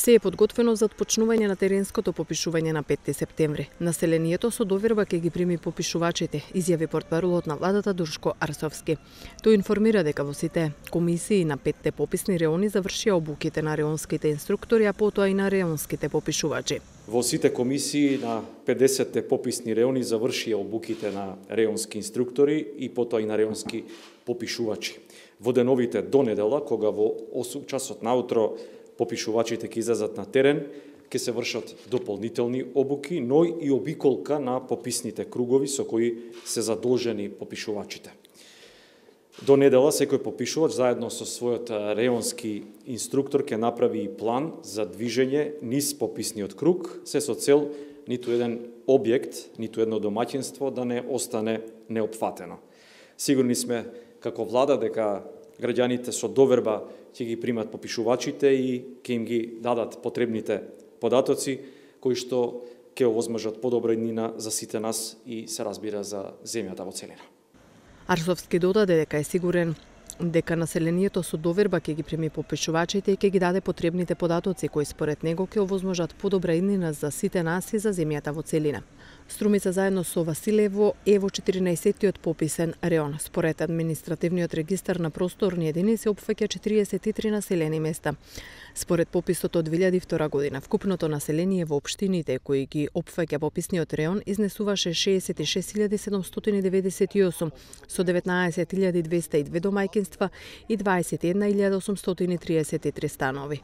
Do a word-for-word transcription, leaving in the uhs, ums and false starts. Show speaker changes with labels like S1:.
S1: Се е подготвено за отпочнување на теренското попишување на петти септември. Населението со доверба ќе ги прими попишувачите, изјави портпаролот на владата Душко Арсовски. Тој информира дека во сите комисии на петте пописни реони завршија обуките на реонските инструктори, а потоа и на реонските попишувачи.
S2: Во сите комисии на педесетте пописни реони завршија обуките на реонски инструктори и потоа и на реонски попишувачи. Во деновите до недела, кога во осум часот наутро попишувачите ќе излезат на терен, ќе се вршат дополнителни обуки, но и обиколка на пописните кругови со кои се задолжени попишувачите. До недела секој попишувач заедно со својот реонски инструктор ќе направи и план за движење низ пописниот круг, се со цел ниту еден објект, ниту едно домаќинство да не остане неопфатено. Сигурни сме како влада дека граѓаните со доверба ќе ги примат попишувачите и ќе им ги дадат потребните податоци кои што ќе овозможат подобра иднина за сите нас и се разбира за земјата во целина.
S1: Арсовски додаде дека е сигурен дека населението со доверба ќе ги прими попишувачите и ќе ги даде потребните податоци кои според него ќе овозможат подобра иднина за сите нас и за земјата во целина. Струмица заедно со Василево е во четиринаесеттиот пописен реон. Според административниот регистар на просторни единици опфаќа четириесет и три населени места. Според пописот од две илјади и втора година, вкупното население во општините кои ги опфаќа пописниот реон изнесуваше шеесет и шест илјади седумстотини деветдесет и осум со деветнаесет илјади двесте и две домаќинства и дваесет и една илјада осумстотини триесет и три станови.